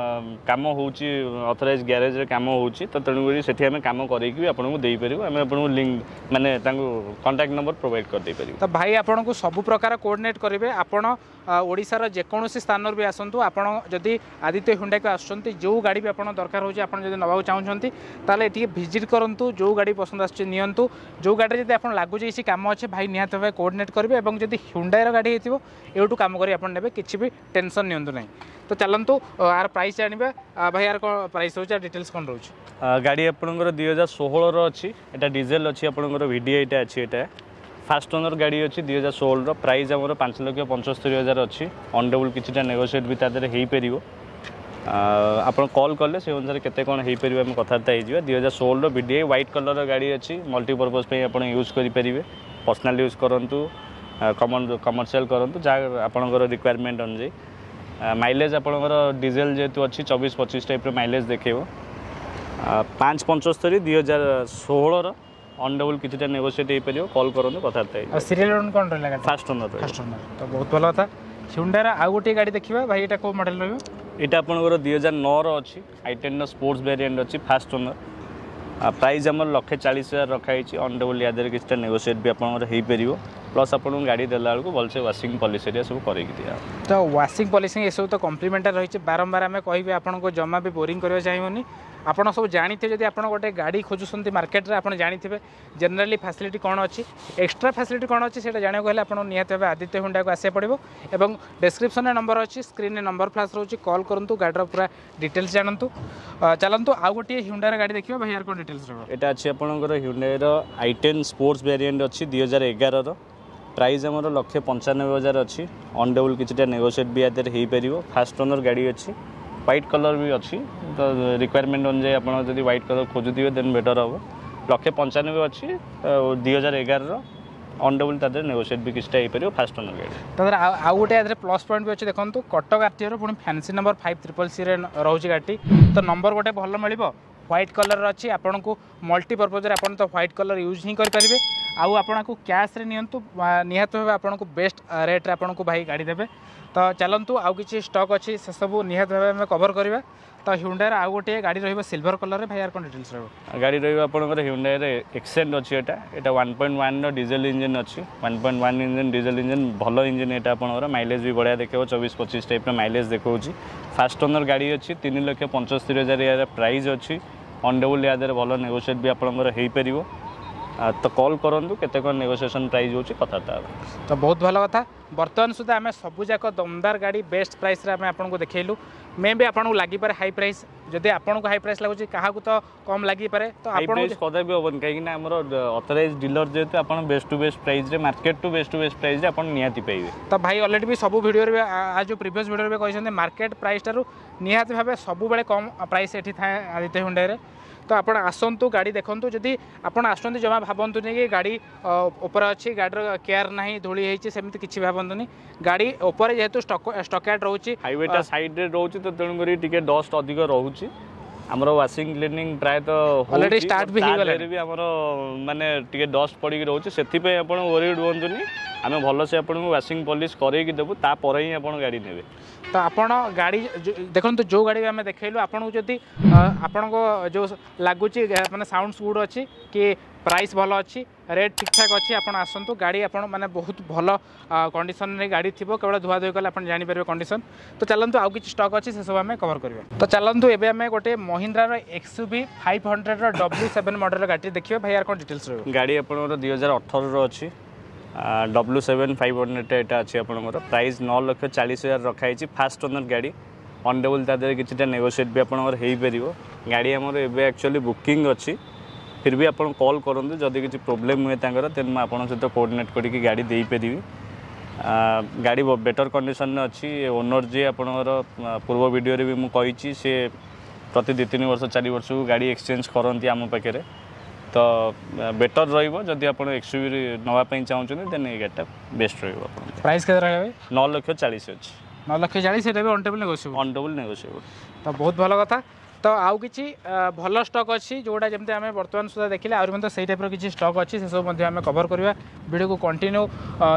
କାମ ହେଉଛି, ଅଥରାଇଜ୍ ଗ୍ୟାରେଜରେ କାମ ହେଉଛି। ତ ତେଣୁକରି ସେଠି ଆମେ କାମ କରେଇକି ବି ଆପଣଙ୍କୁ ଦେଇପାରିବୁ। ଆମେ ଆପଣଙ୍କୁ ଲିଙ୍କ, ମାନେ ତାଙ୍କୁ କଣ୍ଟାକ୍ଟ ନମ୍ବର ପ୍ରୋଭାଇଡ଼ କରିଦେଇପାରିବୁ।
ତ ଭାଇ ଆପଣଙ୍କୁ ସବୁ ପ୍ରକାର କୋଅର୍ଡିନେଟ୍ କରିବେ। ଆପଣ ଓଡ଼ିଶାର ଯେକୌଣସି ସ୍ଥାନରୁ ବି ଆସନ୍ତୁ, ଆପଣ ଯଦି ଆଦିତ୍ୟ ହୁଣ୍ଡାକୁ ଆସୁଛନ୍ତି, ଯେଉଁ ଗାଡ଼ି ବି ଆପଣ ଦରକାର ହେଉଛି, ଆପଣ ଯଦି ନେବାକୁ ଚାହୁଁଛନ୍ତି, ତାହେଲେ ଏଠିକି ଭିଜିଟ୍ କରନ୍ତୁ। ଯେଉଁ ଗାଡ଼ି ପସନ୍ଦ ଆସୁଛି ନିଅନ୍ତୁ। ଯେଉଁ ଗାଡ଼ିରେ ଯଦି ଆପଣ ଲାଗୁଛି କିଛି କାମ ଅଛି, ଭାଇ ନିହାତି ଭାବେ କୋଅର୍ଡିନେଟ୍ କରିବେ। ଏବଂ ଯଦି ହୁଣ୍ଡାଇର ଗାଡ଼ି ହେଇଥିବ, ଏଇଠୁ କାମ କରି ଆପଣ ନେବେ, କିଛି ବି ଟେନସନ୍ ନିଅନ୍ତୁ ନାହିଁ। ତ ଚାଲନ୍ତୁ, ଆର ପ୍ରାଇସ୍ ଜାଣିବା। ଭାଇ, ଆର କ'ଣ ପ୍ରାଇସ୍ ରହୁଛି ଆଉ ଡିଟେଲ୍ସ କ'ଣ ରହୁଛି?
ଗାଡ଼ି ଆପଣଙ୍କର 2016ର ଅଛି। ଏଇଟା ଡିଜେଲ ଅଛି ଆପଣଙ୍କର, ଭିଡିଆଇଟା ଅଛି ଏଇଟା। ଫାଷ୍ଟ ଓନର୍ ଗାଡ଼ି ଅଛି 2016ର। ପ୍ରାଇସ୍ ଆମର 5,75,000 ଅଛି। ଅନ୍ ଟେବୁଲ୍ କିଛିଟା ନେଗୋସିଏଟ୍ ବି ତା ଦେହରେ ହେଇପାରିବ। ଆପଣ କଲ୍ କଲେ ସେ ଅନୁସାରେ କେତେ କ'ଣ ହେଇପାରିବ ଆମେ କଥାବାର୍ତ୍ତା ହେଇଯିବା। 2016ର ଭିଡିଆଇ ହ୍ୱାଇଟ୍ କଲର୍ର ଗାଡ଼ି ଅଛି। ମଲ୍ଟିପର୍ପଜ୍ ପାଇଁ ଆପଣ ୟୁଜ୍ କରିପାରିବେ। ପର୍ସନାଲ୍ ୟୁଜ୍ କରନ୍ତୁ, କମର୍ସିଆଲ କରନ୍ତୁ, ଯାହା ଆପଣଙ୍କର ରିକ୍ୱାରମେଣ୍ଟ ଅନୁଯାୟୀ। ମାଇଲେଜ୍ ଆପଣଙ୍କର ଡିଜେଲ ଯେହେତୁ ଅଛି, 24-25 ଟାଇପ୍ର ମାଇଲେଜ୍ ଦେଖେଇବ। 5.75, 2016ର। ଅନ୍ ଟେବୁଲ୍ କିଛିଟା ନେଗୋସିଏଟ୍ ହେଇପାରିବ। କଲ୍ କରନ୍ତୁ, କଥାବାର୍ତ୍ତା ହେଇଯିବ।
ଆଉ ସିରିଏଲ୍ କ'ଣ ରହିଲା ଗାଡ଼ି?
ଫାଷ୍ଟ ଓନର୍ ରହିବ।
ଫାଷ୍ଟ ଓନର୍, ତ ବହୁତ ଭଲ କଥା। ହ୍ୟୁଣ୍ଡାର ଆଉ ଗୋଟିଏ ଗାଡ଼ି ଦେଖିବା। ଭାଇ, ଏଇଟା କେଉଁ ମଡ଼େଲ୍ ରହିବ?
ଏଇଟା ଆପଣଙ୍କର 2009ର ଅଛି। I ଟେନ୍ର ସ୍ପୋର୍ଟସ୍ ଭେରିଏଣ୍ଟ ଅଛି। ଫାଷ୍ଟ ଓନର୍, ପ୍ରାଇସ୍ ଆମର 1,40,000 ରଖାହେଇଛି। ଅନ୍ ଟେବୁଲ୍ ୟା ଦେହରେ କିଛିଟା ନେଗୋସିଏଟ୍ ବି ଆପଣଙ୍କର ହେଇପାରିବ। ପ୍ଲସ୍ ଆପଣଙ୍କୁ ଗାଡ଼ି ଦେଲା ବେଳକୁ ଭଲସେ ୱାସିଂ, ପଲିସ୍ ଏରିଆ ସବୁ କରେଇକି ଦିଆହେବ।
ତ ୱାସିଂ, ପଲିସିଂ ଏସବୁ ତ କମ୍ପ୍ଲିମେଣ୍ଟାରୀ ରହିଛି। ବାରମ୍ବାର ଆମେ କହିବି, ଆପଣଙ୍କୁ ଜମା ବି ବୋରିଂ କରିବାକୁ ଚାହିଁବୁନି। ଆପଣ ସବୁ ଜାଣିଥିବେ, ଯଦି ଆପଣ ଗୋଟେ ଗାଡ଼ି ଖୋଜୁଛନ୍ତି ମାର୍କେଟରେ, ଆପଣ ଜାଣିଥିବେ ଜେନେରାଲି ଫ୍ୟାସିଲିଟି କ'ଣ ଅଛି, ଏକ୍ସଟ୍ରା ଫ୍ୟାସିଲିଟି କ'ଣ ଅଛି। ସେଇଟା ଜାଣିବାକୁ ହେଲେ ଆପଣ ନିହାତି ଭାବେ ଆଦିତ୍ୟ ହୁଣ୍ଡାକୁ ଆସିବାକୁ ପଡ଼ିବ ଏବଂ ଡେସ୍କ୍ରିପ୍ସନରେ ନମ୍ବର ଅଛି, ସ୍କ୍ରିନ୍ରେ ନମ୍ବର ଫ୍ଲାସ୍ ରହୁଛି, କଲ୍ କରନ୍ତୁ, ଗାଡ଼ିର ପୁରା ଡିଟେଲ୍ସ ଜାଣନ୍ତୁ। ଚାଲନ୍ତୁ ଆଉ ଗୋଟିଏ ହ୍ୟୁଣ୍ଡାର ଗାଡ଼ି ଦେଖିବା। ଭାଇ, ୟାର କ'ଣ ଡିଟେଲ୍ସ ରହିବ?
ଏଇଟା ଅଛି ଆପଣଙ୍କର ହ୍ୟୁଣ୍ଡାଇର I ten sports variant ଅଛି 2011ର। ପ୍ରାଇସ୍ ଆମର 1,95,000 ଅଛି। ଅନ୍ ଟେବୁଲ୍ କିଛିଟା ନେଗୋସିଏଟ୍ ବି ୟା ଦେହରେ ହେଇପାରିବ। ଫାଷ୍ଟ ଓନର୍ ଗାଡ଼ି ଅଛି। ହ୍ୱାଇଟ୍ କଲର୍ ବି ଅଛି। ତ ରିକ୍ୱାରମେଣ୍ଟ ଅନୁଯାୟୀ ଆପଣ ଯଦି ହ୍ୱାଇଟ୍ କଲର୍ ଖୋଜୁଥିବେ, ଦେନ୍ ବେଟର୍ ହେବ। 1.95 ଲକ୍ଷ ଅଛି ଆଉ 2011ର। ଅନ୍ ଟେବୁଲ୍ ତା ଦେହରେ ନେଗୋସିଏଟ୍ ବି କିଛିଟା ହେଇପାରିବ। ଫାଷ୍ଟ ଓନର୍ ଗାଡ଼ି।
ତା ଦେହରେ ଆଉ ଗୋଟେ ୟା ଦେହରେ ପ୍ଲସ୍ ପଏଣ୍ଟ ବି ଅଛି। ଦେଖନ୍ତୁ, କଟକ ଆରଟିଓର ପୁଣି ଫ୍ୟାନ୍ସି ନମ୍ବର 5CCCରେ ରହୁଛି ଗାଡ଼ିଟି। ତ ନମ୍ବର ଗୋଟେ ଭଲ ମିଳିବ, ହ୍ୱାଇଟ୍ କଲର୍ ଅଛି। ଆପଣଙ୍କୁ ମଲ୍ଟିପର୍ପଜ୍ରେ ଆପଣ ତ ହ୍ୱାଇଟ୍ କଲର୍ ୟୁଜ୍ ହିଁ କରିପାରିବେ। ଆଉ ଆପଣଙ୍କୁ କ୍ୟାସ୍ରେ ନିଅନ୍ତୁ, ନିହାତି ଭାବେ ଆପଣଙ୍କୁ ବେଷ୍ଟ ରେଟ୍ରେ ଆପଣଙ୍କୁ ଭାଇ ଗାଡ଼ି ଦେବେ। ତ ଚାଲନ୍ତୁ, ଆଉ କିଛି ଷ୍ଟକ୍ ଅଛି, ସେସବୁ ନିହାତି ଭାବେ ଆମେ କଭର୍ କରିବା। ତ ହ୍ୟୁଣ୍ଡାର ଆଉ ଗୋଟିଏ ଗାଡ଼ି ରହିବ ସିଲଭର କଲର୍ରେ। ଭାଇ, ୟାର କ'ଣ ଡିଟେଲ୍ସ ରହିବ?
ଗାଡ଼ି ରହିବ ଆପଣଙ୍କର ହ୍ୟୁଣ୍ଡାଇର ଏକ୍ସେଣ୍ଟ ଅଛି ଏଇଟା। ଏଇଟା 1.1ର ଡିଜେଲ ଇଞ୍ଜିନ୍ ଅଛି। 1.1 ଇଞ୍ଜିନ୍, ଡିଜେଲ ଇଞ୍ଜିନ୍, ଭଲ ଇଞ୍ଜିନ୍ ଏଇଟା। ଆପଣଙ୍କର ମାଇଲେଜ୍ ବି ବଢ଼ିଆ ଦେଖେଇବ, 24-25 ଟାଇପ୍ର ମାଇଲେଜ୍ ଦେଖାଉଛି। ଫାଷ୍ଟ ଓନର୍ ଗାଡ଼ି ଅଛି। 3,75,000 ୟାର ପ୍ରାଇସ୍ ଅଛି। ଅନ୍ ଟେବୁଲ୍ ୟା ଦେହରେ ଭଲ ନେଗୋସିଏଟ୍ ବି ଆପଣଙ୍କର ହେଇପାରିବ। ତ କଲ୍ କରନ୍ତୁ, କେତେ କ'ଣ ନେଗୋସିଏସନ୍ ପ୍ରାଇସ୍ ହେଉଛି କଥାବାର୍ତ୍ତା ହେବା।
ତ ବହୁତ ଭଲ କଥା। ବର୍ତ୍ତମାନ ସୁଦ୍ଧା ଆମେ ସବୁଯାକ ଦମଦାର ଗାଡ଼ି ବେଷ୍ଟ ପ୍ରାଇସ୍ରେ ଆମେ ଆପଣଙ୍କୁ ଦେଖେଇଲୁ। ମେ ବି ଆପଣଙ୍କୁ ଲାଗିପାରେ ହାଇ ପ୍ରାଇସ୍। ଯଦି ଆପଣଙ୍କୁ ହାଇ ପ୍ରାଇସ୍ ଲାଗୁଛି, କାହାକୁ ତ କମ୍ ଲାଗିପାରେ। ତ
ହାଇ
ଆପଣ
ପ୍ରାଇସ୍ କଦାପି ହେବନି, କାହିଁକିନା ଆମର ଅଥରାଇଜ୍ ଡିଲର ଯେହେତୁ, ଆପଣ ବେଷ୍ଟ ଟୁ ବେଷ୍ଟ ପ୍ରାଇସ୍ରେ, ମାର୍କେଟ ଟୁ ବେଷ୍ଟ ପ୍ରାଇସ୍ରେ ଆପଣ ନିହାତି ପାଇବେ।
ତ ଭାଇ ଅଲରେଡ଼ି ବି ସବୁ ଭିଡ଼ିଓରେ ବି ଯେଉଁ ପ୍ରିଭିୟସ୍ ଭିଡ଼ିଓରେ ବି କହିଛନ୍ତି, ମାର୍କେଟ ପ୍ରାଇସ୍ ଠାରୁ ନିହାତି ଭାବେ ସବୁବେଳେ କମ୍ ପ୍ରାଇସ୍ ଏଠି ଥାଏ ଆଦିତ୍ୟ ହୁଣ୍ଡାଇରେ। ତ ଆପଣ ଆସନ୍ତୁ, ଗାଡ଼ି ଦେଖନ୍ତୁ। ଯଦି ଆପଣ ଆସୁଛନ୍ତି, ଜମା ଭାବନ୍ତୁନି କି ଗାଡ଼ି ଉପରେ ଅଛି, ଗାଡ଼ିର କେୟାର ନାହିଁ, ଧୂଳି ହେଇଛି, ସେମିତି କିଛି ଭାବନ୍ତୁନି। ଗାଡ଼ି ଉପରେ ଯେହେତୁ ଷ୍ଟକୟାର୍ଡ଼ ରହୁଛି,
ହାଇୱେଟା ସାଇଡ଼୍ରେ ରହୁଛି, ତ ତେଣୁକରି ଟିକେ ଡଷ୍ଟ ଅଧିକ ରହୁଛି। ଆମର ୱାସିଂ, କ୍ଲିନିଂ ପ୍ରାୟତଃ
Already start ବି
ତା
ହେଇଗଲାଣି।
ଦେହରେ ବି ଆମର ମାନେ ଟିକେ ଡଷ୍ଟ ପଡ଼ିକି ରହୁଛି। ସେଥିପାଇଁ ଆପଣ ୱରିଡ୍ ହୁଅନ୍ତୁନି। ଆମେ ଭଲସେ ଆପଣଙ୍କୁ ୱାସିଂ, ପଲିସ୍ କରେଇକି ଦେବୁ, ତାପରେ ହିଁ ଆପଣ ଗାଡ଼ି ନେବେ।
ତ ଆପଣ ଗାଡ଼ି ଦେଖନ୍ତୁ, ଯେଉଁ ଗାଡ଼ି ବି ଆମେ ଦେଖେଇଲୁ ଆପଣଙ୍କୁ, ଯଦି ଆପଣଙ୍କ ଯେଉଁ ଲାଗୁଛି ମାନେ ସାଉଣ୍ଡସ୍ ଗୁଡ୍ ଅଛି କି ପ୍ରାଇସ୍ ଭଲ ଅଛି, ରେଟ୍ ଠିକ୍ଠାକ୍ ଅଛି, ଆପଣ ଆସନ୍ତୁ। ଗାଡ଼ି ଆପଣ ମାନେ ବହୁତ ଭଲ କଣ୍ଡିସନରେ ଗାଡ଼ି ଥିବ। କେବଳ ଧୁଆ ଧୁଇ କଲେ ଆପଣ ଜାଣିପାରିବେ କଣ୍ଡିସନ୍। ତ ଚାଲନ୍ତୁ, ଆଉ କିଛି ଷ୍ଟକ୍ ଅଛି, ସେସବୁ ଆମେ କଭର୍ କରିବା। ତ ଚାଲନ୍ତୁ, ଏବେ ଆମେ ଗୋଟେ ମହିନ୍ଦ୍ରାର ଏକ୍ସୟୁଭି 500ର W7 ମଡ଼େଲର ଗାଡ଼ି ଦେଖିବା। ଭାଇ, ୟାର କ'ଣ ଡିଟେଲ୍ସ ରହିବ?
ଗାଡ଼ି ଆପଣଙ୍କର 2018ର ଅଛି। W7 500 ଏଇଟା ଅଛି ଆପଣଙ୍କର। ପ୍ରାଇସ୍ 9,40,000 ରଖାହେଇଛି। ଫାଷ୍ଟ ଓନର୍ ଗାଡ଼ି। ଅନ୍ ଟେବୁଲ୍ ତା ଦେହରେ କିଛିଟା ନେଗୋସିଏଟ୍ ବି ଆପଣଙ୍କର ହେଇପାରିବ। ଗାଡ଼ି ଆମର ଏବେ ଆକ୍ଚୁଆଲି ବୁକିଂ ଅଛି। ଫିର୍ ବି ଆପଣ କଲ୍ କରନ୍ତୁ, ଯଦି କିଛି ପ୍ରୋବ୍ଲେମ୍ ହୁଏ ତାଙ୍କର, ଦେନ୍ ମୁଁ ଆପଣଙ୍କ ସହିତ କୋଅର୍ଡ଼ିନେଟ୍ କରିକି ଗାଡ଼ି ଦେଇପାରିବି। ଗାଡ଼ି ବେଟର୍ କଣ୍ଡିସନ୍ରେ ଅଛି। ଓନର୍ ଯିଏ ଆପଣଙ୍କର, ପୂର୍ବ ଭିଡ଼ିଓରେ ବି ମୁଁ କହିଛି, ସେ ପ୍ରତି 2-3 ବର୍ଷ, 4 ବର୍ଷକୁ ଗାଡ଼ି ଏକ୍ସଚେଞ୍ଜ କରନ୍ତି ଆମ ପାଖରେ। ତ ବେଟର୍ ରହିବ, ଯଦି ଆପଣ ଏକ୍ସୟୁଭି ନେବା ପାଇଁ ଚାହୁଁଛନ୍ତି, ଦେନ୍ ଏଇ ଗାଡ଼ିଟା ବେଷ୍ଟ ରହିବ ଆପଣଙ୍କ।
ପ୍ରାଇସ୍ କେତେ ରହିବ ଭାଇ?
9 ଲକ୍ଷ 40 ଅଛି।
9 ଲକ୍ଷ 40, ସେଇଟା ବି on table negotiable?
On table negotiable.
ତ ବହୁତ ଭଲ କଥା। ତ ଆଉ କିଛି ଭଲ ଷ୍ଟକ୍ ଅଛି, ଯେଉଁଟା ଯେମିତି ଆମେ ବର୍ତ୍ତମାନ ସୁଦ୍ଧା ଦେଖିଲେ, ଆହୁରି ମଧ୍ୟ ସେଇ ଟାଇପ୍ର କିଛି ଷ୍ଟକ୍ ଅଛି, ସେସବୁ ମଧ୍ୟ ଆମେ କଭର୍ କରିବା। ଭିଡ଼ିଓକୁ କଣ୍ଟିନ୍ୟୁ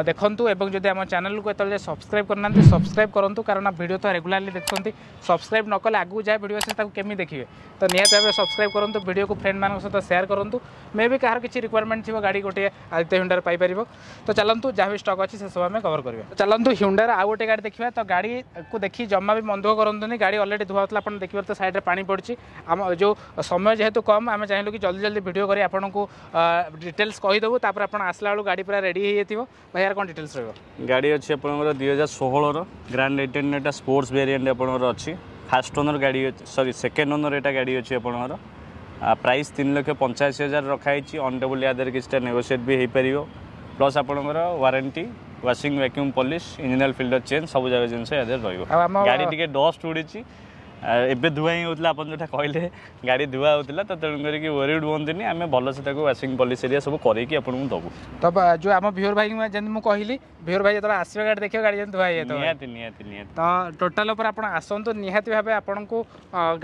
ଦେଖନ୍ତୁ ଏବଂ ଯଦି ଆମ ଚ୍ୟାନେଲକୁ ଏତେବେଳେ ସବସ୍କ୍ରାଇବ୍ କରିନାହାନ୍ତି, ସବସ୍କ୍ରାଇବ୍ କରନ୍ତୁ। କାରଣ ଭିଡ଼ିଓ ତ ରେଗୁଲାରଲି ଦେଖୁଛନ୍ତି, ସବସ୍କ୍ରାଇବ୍ ନ କଲେ ଆଗକୁ ଯାହା ଭିଡ଼ିଓ ଅଛି ତାକୁ କେମିତି ଦେଖିବେ? ତ ନିହାତି ଭାବେ ସବସ୍କ୍ରାଇବ୍ କରନ୍ତୁ, ଭିଡ଼ିଓକୁ ଫ୍ରେଣ୍ଡମାନଙ୍କ ସହିତ ସେୟାର କରନ୍ତୁ। ମେ ବି କାହାର କିଛି ରିକ୍ୱାରମେଣ୍ଟ ଥିବ ଗାଡ଼ି, ଗୋଟିଏ ଆଦିତ୍ୟ ହୁଣ୍ଡାରେ ପାଇପାରିବ। ତ ଚାଲନ୍ତୁ, ଯାହା ବି ଷ୍ଟକ୍ ଅଛି ସେସବୁ ଆମେ କଭର୍ କରିବା। ତ ଚାଲନ୍ତୁ, ହୁଣ୍ଡାର ଆଉ ଗୋଟେ ଗାଡ଼ି ଦେଖିବା। ତ ଗାଡ଼ିକୁ ଦେଖି ଜମା ବି ମନ ଦୁଃଖ କରନ୍ତୁନି। ଗାଡ଼ି ଅଲରେଡ଼ି ଧୁଆ ହେଉଥିଲା, ଆପଣ ଦେଖିପାରୁଥିବେ ସାଇଡ଼୍ରେ ପାଣି ପଡ଼ିଛି। ଆମ ଯେଉଁ ସମୟ ଯେହେତୁ କମ୍, ଆମେ ଚାହିଁଲୁ କି ଜଲ୍ଦି ଜଲ୍ଦି ଭିଡ଼ିଓ କରି ଆପଣଙ୍କୁ ଡିଟେଲ୍ସ କହିଦେବୁ। ତାପରେ ଆପଣ ଆସିଲା ବେଳକୁ ଗାଡ଼ି ପୁରା ରେଡ଼ି ହେଇଯାଇଥିବ। ଭାଇ, ୟାର କ'ଣ ଡିଟେଲ୍ସ ରହିବ?
ଗାଡ଼ି ଅଛି ଆପଣଙ୍କର 2016ର ଗ୍ରାଣ୍ଡ I ten. ଏଇଟା ସ୍ପୋର୍ଟସ୍ ଭେରିଏଣ୍ଟ ଆପଣଙ୍କର ଅଛି। ଫାଷ୍ଟ ଓନର୍ ଗାଡ଼ି ଅଛି, ସରି, ସେକେଣ୍ଡ ଓନର୍ ଏଇଟା ଗାଡ଼ି ଅଛି ଆପଣଙ୍କର। ପ୍ରାଇସ୍ 3,85,000 ରଖାହେଇଛି। ଅନ୍ ଟେବୁଲ୍ ୟା ଦେହରେ କିଛିଟା ନେଗୋସିଏଟ୍ ବି ହେଇପାରିବ। ପ୍ଲସ୍ ଆପଣଙ୍କର warranty, washing, vacuum polish, engine oil filter change, ସବୁ ଯାକ ଜିନିଷ ୟା ଦେହରେ ରହିବ।
ଆଉ ଆମ
ଗାଡ଼ି ଟିକେ ଡଷ୍ଟ ଉଡ଼ିଛି, ଏବେ ଧୁଆ ହିଁ ହେଉଥିଲା। ଆପଣ ଯେଉଁଟା କହିଲେ ଗାଡ଼ି ଧୁଆ ହେଉଥିଲା, ତ ତେଣୁ କରିକି ୱରିଡ୍ ହୁଅନ୍ତୁନି, ଆମେ ଭଲସେ ତାକୁ ୱାସିଂ ପଲିସ୍ ଏରିଆ ସବୁ କରେଇକି ଆପଣଙ୍କୁ ଦେବୁ।
ତ ଯେଉଁ ଆମ ଭିଓର ଭାଇ, ଯେମିତି ମୁଁ କହିଲି, ଭିଓର ଭାଇ ଯେତେବେଳେ ଆସିବେ ଗାଡ଼ି ଦେଖିବେ, ଗାଡ଼ି ଯେମିତି ଧୁଆ ହେଇଯାଇଥିବ।
ନିହାତି ନିହାତି ନିହାତି।
ତ ଟୋଟାଲ ଉପରେ ଆପଣ ଆସନ୍ତୁ, ନିହାତି ଭାବେ ଆପଣଙ୍କୁ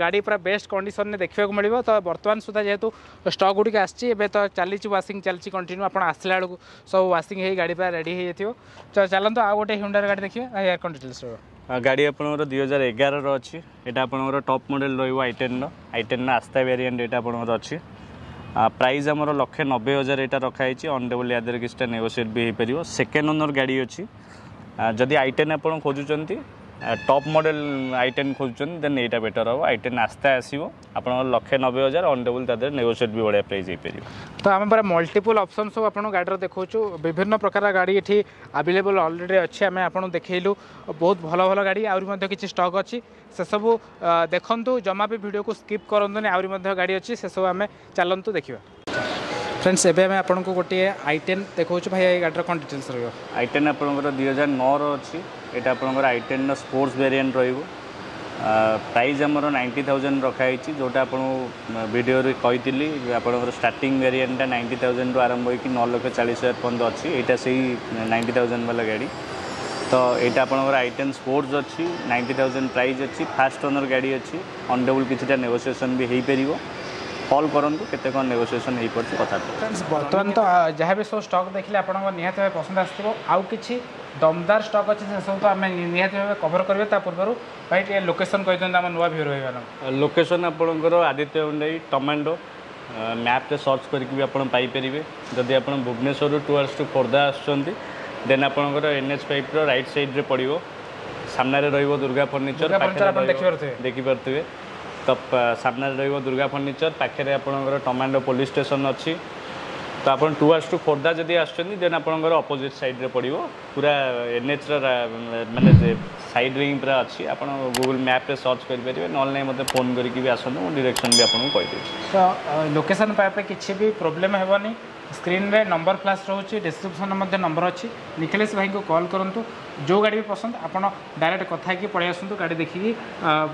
ଗାଡ଼ି ପୁରା ବେଷ୍ଟ କଣ୍ଡିସନରେ ଦେଖିବାକୁ ମିଳିବ। ତ ବର୍ତ୍ତମାନ ସୁଦ୍ଧା ଯେହେତୁ ଷ୍ଟକ୍ ଗୁଡ଼ିକ ଆସିଛି, ଏବେ ତ ଚାଲିଛି, ୱାସିଂ ଚାଲିଛି କଣ୍ଟିନ୍ୟୁ। ଆପଣ ଆସିଲା ବେଳକୁ ସବୁ ୱାସିଂ ହେଇ ଗାଡ଼ି ପୁରା ରେଡ଼ି ହେଇଯାଇଥିବ। ତ ଚାଲନ୍ତୁ ଆଉ ଗୋଟେ ହୁଣ୍ଡାର ଗାଡ଼ି ଦେଖିବା। ଭାଇ, ୟାର କ'ଣ ଡିଟେଲ୍ସ ରହିବ?
ଗାଡ଼ି ଆପଣଙ୍କର 2011ର ଅଛି। ଏଇଟା ଆପଣଙ୍କର ଟପ୍ ମଡ଼େଲ୍ ରହିବ ଆଇଟେନ୍ର, ଆଇଟେନ୍ର ଆସ୍ତା ଭ୍ୟାରିଏଣ୍ଟ ଏଇଟା ଆପଣଙ୍କର ଅଛି। ପ୍ରାଇସ୍ ଆମର 1,90,000 ଏଇଟା ରଖାହେଇଛି। ଅନ୍ ଟେବୁଲ୍ ୟା ଦେହରେ କିଛିଟା ନେଗୋସିଏଟ୍ ବି ହେଇପାରିବ। ସେକେଣ୍ଡ ଓନର୍ ଗାଡ଼ି ଅଛି। ଯଦି ଆଇଟେନ୍ ଆପଣ ଖୋଜୁଛନ୍ତି, ଟପ୍ ମଡ଼େଲ୍ ଆଇଟେନ୍ ଖୋଜୁଛନ୍ତି, ଦେନ୍ ଏଇଟା ବେଟର୍ ହେବ। ଆଇଟେନ୍ ଆସ୍ତା ଆସିବ ଆପଣଙ୍କର 1,90,000, ଅନ୍ ଟେବୁଲ୍ ତା ଦେହରେ ନେଗୋସିଏଟ୍ ବି ବଢ଼ିଆ ପ୍ରାଇସ୍ ହେଇପାରିବ।
ତ ଆମେ ପୁରା ମଲ୍ଟିପୁଲ୍ ଅପସନ୍ ସବୁ ଆପଣଙ୍କୁ ଗାଡ଼ିର ଦେଖାଉଛୁ। ବିଭିନ୍ନ ପ୍ରକାର ଗାଡ଼ି ଏଠି ଆଭେଲେବଲ୍ ଅଲରେଡ଼ି ଅଛି। ଆମେ ଆପଣଙ୍କୁ ଦେଖେଇଲୁ ବହୁତ ଭଲ ଭଲ ଗାଡ଼ି, ଆହୁରି ମଧ୍ୟ କିଛି ଷ୍ଟକ୍ ଅଛି, ସେସବୁ ଦେଖନ୍ତୁ। ଜମା ବି ଭିଡ଼ିଓକୁ ସ୍କିପ୍ କରନ୍ତୁନି, ଆହୁରି ମଧ୍ୟ ଗାଡ଼ି ଅଛି, ସେସବୁ ଆମେ ଚାଲନ୍ତୁ ଦେଖିବା। ଫ୍ରେଣ୍ଡସ୍, ଏବେ ଆମେ ଆପଣଙ୍କୁ ଗୋଟିଏ ଆଇଟେନ୍ ଦେଖାଉଛୁ। ଭାଇ, ଏଇ ଗାଡ଼ିର କ'ଣ ଡିଟେଲ୍ସ ରହିବ?
ଆଇଟେନ୍ ଆପଣଙ୍କର 2009ର ଅଛି। ଏଇଟା ଆପଣଙ୍କର ଆଇଟେନ୍ର ସ୍ପୋର୍ଟସ୍ ଭେରିଏଣ୍ଟ ରହିବ। ପ୍ରାଇସ୍ ଆମର 90,000 ରଖାହେଇଛି। ଯେଉଁଟା ଆପଣଙ୍କୁ ଭିଡ଼ିଓରେ କହିଥିଲି, ଆପଣଙ୍କର ଷ୍ଟାର୍ଟିଂ ଭେରିଏଣ୍ଟଟା 90,000ରୁ ଆରମ୍ଭ ହୋଇକି 9,40,000 ପର୍ଯ୍ୟନ୍ତ ଅଛି। ଏଇଟା ସେଇ 90,000 ବାଲା ଗାଡ଼ି। ତ ଏଇଟା ଆପଣଙ୍କର ଆଇଟେନ୍ ସ୍ପୋର୍ଟସ୍ ଅଛି, 90,000 ପ୍ରାଇସ୍ ଅଛି, ଫାଷ୍ଟ ଓନର୍ ଗାଡ଼ି ଅଛି। ଅନ୍ ଟେବୁଲ୍ କିଛିଟା ନେଗୋସିଏସନ୍ ବି ହେଇପାରିବ। କଲ୍ କରନ୍ତୁ, କେତେ କ'ଣ ନେଗୋସିଏସନ୍ ହେଇପାରୁଛି କଥା।
ଫ୍ରେଣ୍ଡସ୍, ବର୍ତ୍ତମାନ ତ ଯାହା ବି ସବୁ ଷ୍ଟକ୍ ଦେଖିଲେ ଆପଣଙ୍କ ନିହାତି ଭାବେ ପସନ୍ଦ ଆସିଥିବ। ଆଉ କିଛି ଦମଦାର ଷ୍ଟକ୍ ଅଛି, ସେସବୁ ତ ଆମେ ନିହାତି ଭାବେ କଭର କରିବା। ତା ପୂର୍ବରୁ ଭାଇ ଟିକେ ଲୋକେସନ୍ କହିଦିଅନ୍ତୁ ଆମ ନୂଆ ଭିଉର ଭାଇମାନଙ୍କୁ।
ଲୋକେସନ୍ ଆପଣଙ୍କର ଆଦିତ୍ୟ ହୁଣ୍ଡାଇ ଟମାଣ୍ଡୋ, ମ୍ୟାପ୍ରେ ସର୍ଚ୍ଚ କରିକି ବି ଆପଣ ପାଇପାରିବେ। ଯଦି ଆପଣ ଭୁବନେଶ୍ୱରରୁ ଟୁୱାର୍ଡସ୍ ଟୁ ଖୋର୍ଦ୍ଧା ଆସୁଛନ୍ତି, ଦେନ୍ ଆପଣଙ୍କର NH 5ର ରାଇଟ୍ ସାଇଡ଼୍ରେ ପଡ଼ିବ। ସାମ୍ନାରେ ରହିବ ଦୁର୍ଗା ଫର୍ଣ୍ଣିଚର।
ଦୁର୍ଗା ଫର୍ଣ୍ଣିଚର ଆପଣ ଦେଖିପାରୁଥିବେ।
ଦେଖିପାରୁଥିବେ। ତ ସାମ୍ନାରେ ରହିବ ଦୁର୍ଗା ଫର୍ଣ୍ଣିଚର, ପାଖରେ ଆପଣଙ୍କର ଟମାଣ୍ଡୋ ପୋଲିସ ଷ୍ଟେସନ ଅଛି। ତ ଆପଣ ଟୁୱାର୍ଡସ୍ ଟୁ ଖୋର୍ଦ୍ଧା ଯଦି ଆସୁଛନ୍ତି, ଦେନ୍ ଆପଣଙ୍କର ଅପୋଜିଟ୍ ସାଇଡ଼୍ରେ ପଡ଼ିବ। ପୁରା ଏନ୍ଏଚ୍ର ମାନେ ସାଇଡ଼୍ରେ ହିଁ ପୁରା ଅଛି। ଆପଣ ଗୁଗୁଲ୍ ମ୍ୟାପ୍ରେ ସର୍ଚ୍ଚ କରିପାରିବେ, ନହେଲେ ନାହିଁ ମୋତେ ଫୋନ୍ କରିକି ବି ଆସନ୍ତୁ, ମୁଁ ଡିରେକ୍ସନ୍ ବି ଆପଣଙ୍କୁ କହିଦେବି।
ତ ଲୋକେସନ୍ ପାଇବା ପାଇଁ କିଛି ବି ପ୍ରୋବ୍ଲେମ୍ ହେବନି। ସ୍କ୍ରିନ୍ରେ ନମ୍ବର ଫ୍ଲାସ୍ ରହୁଛି, ଡିସ୍କ୍ରିପ୍ସନ୍ରେ ମଧ୍ୟ ନମ୍ବର ଅଛି। ନିଖିଲେଶ ଭାଇଙ୍କୁ କଲ୍ କରନ୍ତୁ, ଯେଉଁ ଗାଡ଼ି ବି ପସନ୍ଦ ଆପଣ ଡାଇରେକ୍ଟ କଥା ହେଇକି ପଳେଇ ଆସନ୍ତୁ, ଗାଡ଼ି ଦେଖିକି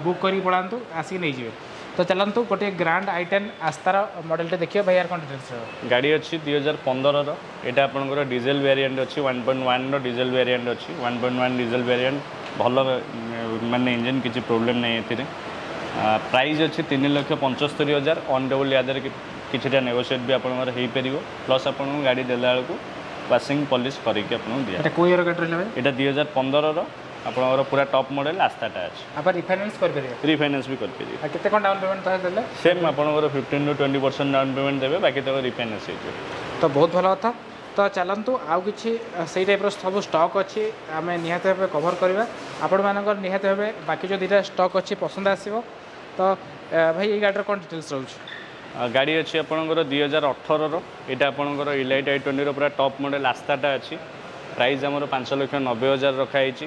ବୁକ୍ କରିକି ପଳାନ୍ତୁ, ଆସିକି ନେଇଯିବେ। ତ ଚାଲନ୍ତୁ ଗୋଟିଏ ଗ୍ରାଣ୍ଡ ଆଇଟେନ୍ ଆସ୍ତାର ମଡ଼େଲଟେ ଦେଖିବା। ଭାଇ, ୟାର କ'ଣ ଡିଟେଲ୍ସ ରହିବ?
ଗାଡ଼ି ଅଛି 2015ର। ଏଇଟା ଆପଣଙ୍କର ଡିଜେଲ ଭ୍ୟାରିଏଣ୍ଟ ଅଛି, 1.1ର ଡିଜେଲ ଭ୍ୟାରିଏଣ୍ଟ ଅଛି। 1.1 ଡିଜେଲ ଭ୍ୟାରିଏଣ୍ଟ ଭଲ, ମାନେ ଇଞ୍ଜିନ୍ କିଛି ପ୍ରୋବ୍ଲେମ୍ ନାହିଁ ଏଥିରେ। ପ୍ରାଇସ୍ ଅଛି 3,75,000। ଅନ୍ ଟେବୁଲ୍ ୟା ଦେହରେ କିଛିଟା ନେଗୋସିଏଟ୍ ବି ଆପଣଙ୍କର ହେଇପାରିବ। ପ୍ଲସ୍ ଆପଣଙ୍କୁ ଗାଡ଼ି ଦେଲା ବେଳକୁ ୱାସିଂ ପଲିସ୍ କରିକି ଆପଣଙ୍କୁ ଦିଆ।
ଏଇଟା କେଉଁ ଇୟର ଗାଡ଼ି ରହିଲା ଭାଇ?
ଏଇଟା 2015ର, ଆପଣଙ୍କର ପୁରା ଟପ୍ ମଡ଼େଲ୍ ଆସ୍ତାଟା ଅଛି।
ଆପଣ ରିଫାଇନାନ୍ସ କରିପାରିବେ?
ରିଫାଇନାନ୍ସ ବି କରିପାରିବେ।
ଆଉ କେତେ କ'ଣ ଡାଉନ୍ ପେମେଣ୍ଟ ତାହେଲେ ଦେଲେ?
ସେମ୍ ଆପଣଙ୍କର 15ରୁ 20% ଡାଉନ୍ ପେମେଣ୍ଟ ଦେବେ, ବାକି ତକ ରିଫାଇନାନ୍ସ ହେଇଯିବ।
ତ ବହୁତ ଭଲ କଥା। ତ ଚାଲନ୍ତୁ ଆଉ କିଛି ସେଇ ଟାଇପ୍ର ସବୁ ଷ୍ଟକ୍ ଅଛି, ଆମେ ନିହାତି ଭାବେ କଭର୍ କରିବା। ଆପଣମାନଙ୍କର ନିହାତି ଭାବେ ବାକି ଯେଉଁ ଦୁଇଟା ଷ୍ଟକ୍ ଅଛି ପସନ୍ଦ ଆସିବ। ତ ଭାଇ, ଏଇ ଗାଡ଼ିର କ'ଣ ଡିଟେଲ୍ସ ରହୁଛି?
ଗାଡ଼ି ଅଛି ଆପଣଙ୍କର 2018ର। ଏଇଟା ଆପଣଙ୍କର ଇଲାଇଟ୍ I 20ର ପୁରା ଟପ୍ ମଡ଼େଲ୍ ଆସ୍ତାଟା ଅଛି। ପ୍ରାଇସ୍ ଆମର 5,90,000 ରଖାହେଇଛି।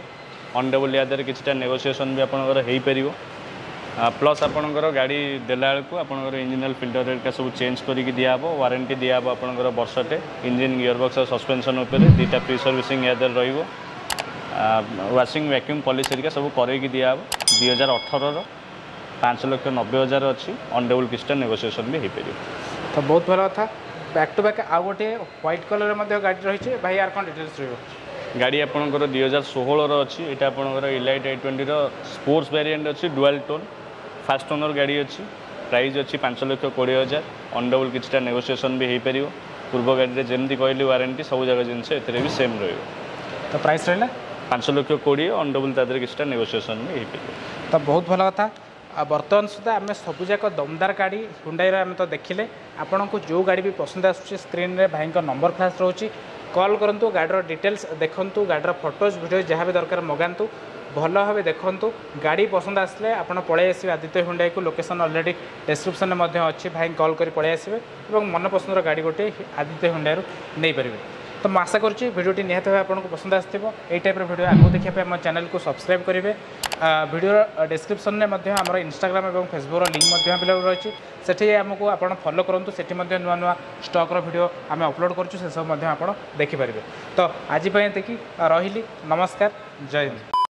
ଅନ୍ ଟେବୁଲ୍ ୟା ଦେହରେ କିଛିଟା ନେଗୋସିଏସନ୍ ବି ଆପଣଙ୍କର ହେଇପାରିବ। ପ୍ଲସ୍ ଆପଣଙ୍କର ଗାଡ଼ି ଦେଲା ବେଳକୁ ଆପଣଙ୍କର ଇଞ୍ଜିନ୍ ଅଏଲ୍ ଫିଲ୍ଟର ହେରିକା ସବୁ ଚେଞ୍ଜ କରିକି ଦିଆହେବ। ୱାରେଣ୍ଟି ଦିଆହେବ ଆପଣଙ୍କର ବର୍ଷଟେ ଇଞ୍ଜିନ୍, ଗିୟର ବକ୍ସ ଆଉ ସସ୍ପେନ୍ସନ୍ ଉପରେ। ଦୁଇଟା ପ୍ରି ସର୍ଭିସିଂ ୟା ଦେହରେ ରହିବ। ୱାସିଂ, ଭ୍ୟାକ୍ୟୁମ୍ ପଲିସ୍ ହେରିକା ସବୁ କରେଇକି ଦିଆହେବ। 2018ର 5,90,000 ଅଛି। ଅନ୍ ଟେବୁଲ୍ କିଛିଟା ନେଗୋସିଏସନ୍ ବି ହେଇପାରିବ।
ତ ବହୁତ ଭଲ କଥା। ବ୍ୟାକ୍ ଟୁ ବ୍ୟାକ୍ ଆଉ ଗୋଟିଏ ହ୍ୱାଇଟ୍ କଲର୍ର ମଧ୍ୟ ଗାଡ଼ି ରହିଛି। ଭାଇ, ୟାର କ'ଣ ଡିଟେଲ୍ସ ରହିବ?
ଗାଡ଼ି ଆପଣଙ୍କର 2016ର ଅଛି। ଏଇଟା ଆପଣଙ୍କର ଇଲାଇଟ୍ I 20ର ସ୍ପୋର୍ଟସ୍ ଭ୍ୟାରିଏଣ୍ଟ ଅଛି, ଡୁଆଲ୍ ଟୋନ୍, ଫାଷ୍ଟ ଓନର୍ ଗାଡ଼ି ଅଛି। ପ୍ରାଇସ୍ ଅଛି 5,20,000। ଅନ୍ ଟେବୁଲ୍ କିଛିଟା ନେଗୋସିଏସନ୍ ବି ହେଇପାରିବ। ପୂର୍ବ ଗାଡ଼ିରେ ଯେମିତି କହିଲି ୱାରେଣ୍ଟି, ସବୁ ଯାକ ଜିନିଷ ଏଥିରେ ବି ସେମ୍ ରହିବ।
ତ ପ୍ରାଇସ୍ ରହିଲା?
5 ଲକ୍ଷ 20, ଅନ୍ ଟେବୁଲ୍ ତା ଦେହରେ କିଛିଟା ନେଗୋସିଏସନ୍ ବି ହେଇପାରିବ।
ତ ବହୁତ ଭଲ କଥା। ଆଉ ବର୍ତ୍ତମାନ ସୁଦ୍ଧା ଆମେ ସବୁଯାକ ଦମଦାର ଗାଡ଼ି ହୁଣ୍ଡାଇର ଆମେ ତ ଦେଖିଲେ। ଆପଣଙ୍କୁ ଯେଉଁ ଗାଡ଼ି ବି ପସନ୍ଦ ଆସୁଛି, ସ୍କ୍ରିନ୍ରେ ଭାଇଙ୍କ ନମ୍ବର ଫ୍ଲାସ୍ ରହୁଛି, କଲ୍ କରନ୍ତୁ, ଗାଡ଼ିର ଡିଟେଲ୍ସ ଦେଖନ୍ତୁ, ଗାଡ଼ିର ଫଟୋଜ୍, ଭିଡ଼ିଓ ଯାହା ବି ଦରକାର ମଗାନ୍ତୁ, ଭଲ ଭାବେ ଦେଖନ୍ତୁ। ଗାଡ଼ି ପସନ୍ଦ ଆସିଲେ ଆପଣ ପଳେଇ ଆସିବେ ଆଦିତ୍ୟ ହୁଣ୍ଡାଇକୁ। ଲୋକେସନ୍ ଅଲରେଡ଼ି ଡେସ୍କ୍ରିପ୍ସନ୍ରେ ମଧ୍ୟ ଅଛି। ଭାଇଙ୍କୁ କଲ୍ କରି ପଳେଇ ଆସିବେ ଏବଂ ମନ ପସନ୍ଦର ଗାଡ଼ି ଗୋଟିଏ ଆଦିତ୍ୟ ହୁଣ୍ଡାଇରୁ ନେଇପାରିବେ। ତ ତ ମୁଁ ଆଶା କରୁଛି ଭିଡ଼ିଓଟି ନିହାତି ଭାବେ ଆପଣଙ୍କୁ ପସନ୍ଦ ଆସିଥିବ। ଏଇ ଟାଇପ୍ର ଭିଡ଼ିଓ ଆଗକୁ ଦେଖିବା ପାଇଁ ଆମ ଚ୍ୟାନେଲକୁ ସବସ୍କ୍ରାଇବ୍ କରିବେ। ଭିଡ଼ିଓର ଡେସ୍କ୍ରିପ୍ସନ୍ରେ ମଧ୍ୟ ଆମର ଇନଷ୍ଟାଗ୍ରାମ ଏବଂ ଫେସବୁକ୍ର ଲିଙ୍କ୍ ମଧ୍ୟ ଆଭେଲେବଲ୍ ରହିଛି। ସେଠି ଆମକୁ ଆପଣ ଫଲୋ କରନ୍ତୁ। ସେଠି ମଧ୍ୟ ନୂଆ ନୂଆ ଷ୍ଟକ୍ର ଭିଡ଼ିଓ ଆମେ ଅପଲୋଡ଼ କରୁଛୁ, ସେସବୁ ମଧ୍ୟ ଆପଣ ଦେଖିପାରିବେ। ତ ଆଜି ପାଇଁ ଏତିକି ରହିଲି। ନମସ୍କାର, ଜୟ ହିନ୍ଦ।